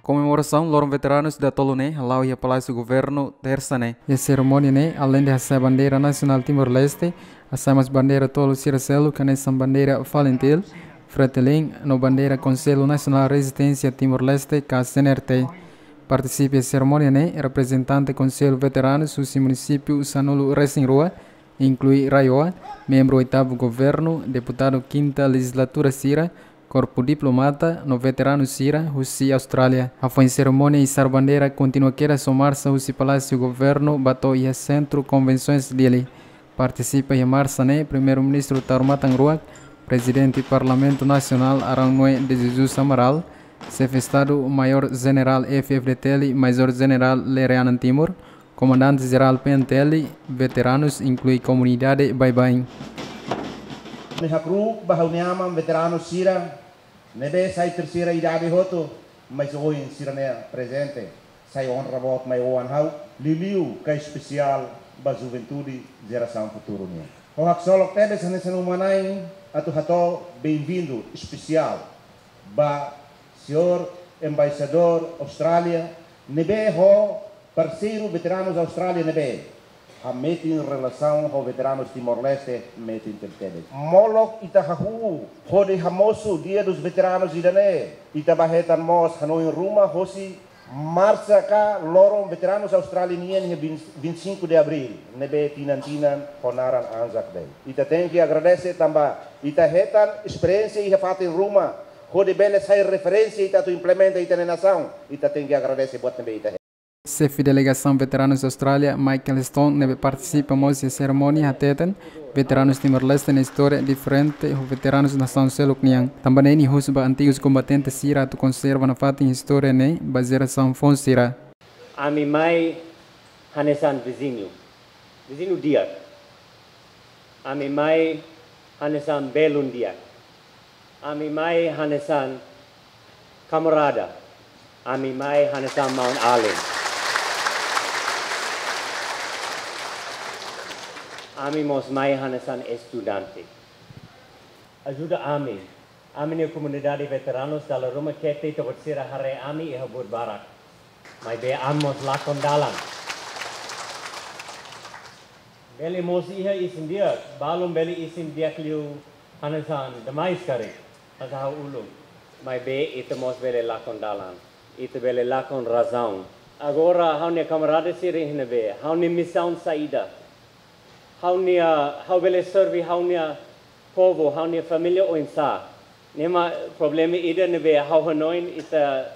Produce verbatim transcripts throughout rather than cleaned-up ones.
Komemorasaun Loron Veteranus datolu ne'e hala'o iha Palásiu Governu, Tersa ne'e. Iha serimónia ne'e, aleinde hasa'e bandeira nasionál Timor-Leste, hasa'e mós bandeira tolu sira seluk, hanesan bandeira FALINTIL, FRETILIN, no bandeira Konsellu Nasionál Rezisténsia Timor-Leste, ka C N R T. Partisipa iha serimónia ne'e reprezentante Konsellu Veteranus husi munisípiu sanulu-resin-rua, inklui RAEOA, membru oitavu governu, deputadu kinta lejizlatura sira, korpu diplomata no veteranu sira husi Austrália. Hafoin serimónia, izar bandeira kontinua kedas ho marsa husi Palásiu Governu ba to'o iha Sentru Konvensoens Dili. Partisipa iha marsa ne'e Primeiru-Ministru Taur Matan Ruak, Prezidente Parlamentu Nasionál Arão Noé de Jesus Amaral, Xefe Estadu Maiór Jenerál F-FDTL, Maizór Jenerál Lere Anan Timur, Komandante Jerál P N T L, veteranus, inklui komunidade baibain. Ha'u hakru'uk ba ha'u-nia aman veteranu sira ne'ebé sai terseira idade hotu, mas ohin sira-nia prezente sai onra boot mai oan ha'u, liuliu ka espesiál ba juventude, jerasaun futuru nian. Ha'u haksolok tebes hanesan uma-na'in atu hato'o benvindu espesiál ba señór Embaixadór Austrália ne'ebé ho parseiru veteranus Austrália ne'ebé hametin relasaun ho veteranus Timor-Leste metin tebetebes. Molok ita hahú hodi hamosu Dia dos Veteranos ida-ne'e, ita bá hetan mós hanoin ruma hosi marsa ka loron veteranus Austrália nian iha vinte, vinte e cinco de abril, ne'ebé tinan-tinan ho naran Anzac Day. Ita tenke agradese tanba ita hetan esperiénsia iha fatin ruma, hodi bele sai referénsia ita atu implementa ita-nia nasaun, ita tenke agradese buat ne'ebé ita hetan. Xefe Delegasaun Veteranus Austrália, Michael Stone, ne'ebé partisipa mós iha serimónia, hateten veteranus Timor-Leste nia istória diferente ho veteranus nasaun seluk nian. Tanba ne'e nia husu ba antigus kombatente sira atu konserva nafatin istória ne'e ba jerasaun foun sira. Ami mai hanesan viziñu, viziñu di'ak. Ami mai hanesan belun di'ak. Ami mai hanesan kamarada. Ami mai hanesan maun-alin. Ami mós mai hanesan estudante. Ajuda ami. Ami-nia komunidade veteranus dala ruma keta ita-boot sira haree ami iha buat barak. Maibé ami mós lakon dalan. Bele mós iha isin di'ak, balun bele isin di'ak liu hanesan demais karik, hanesan ha'u uluk. Maibé ita mós bele lakon dalan. Ita bele lakon razaun. Agora ha'u-nia kamarada sira iha ne'ebé, ha'u-nia misaun saida? Ha'u-nia, ha'u bele serve ha'u-nia povu, ha'u-nia família oinsá? Ne'e mak problema ida ne'ebé ha'u hanoin ita,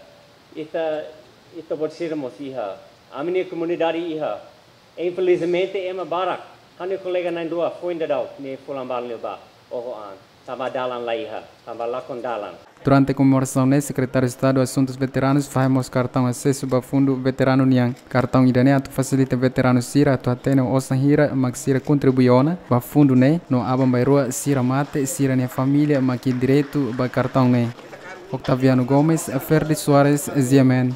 ita, ita-boot sira mós iha. Ami-nia komunidade iha. Infelizmente ema barak. Ha'u-nia kolega na'in-rua foin daudauk ne'e fulan balun liubá oho an. Tanba dalan la iha, tanba lakon dalan. Durante komemorasaun ne'e, Sekretáriu Estadu Asuntus Veteranus fahe mós kartaun asesu ba fundu veteranu nian. Kartaun ida-ne'e atu fasilita veteranu sira atu hatene osan hira mak sira kontribui ona ba fundu ne'e, no aban-bainrua sira mate, sira-nia família mak iha direitu ba kartaun ne'e. Octaviano Gomes, Ferdi Soares, G M N.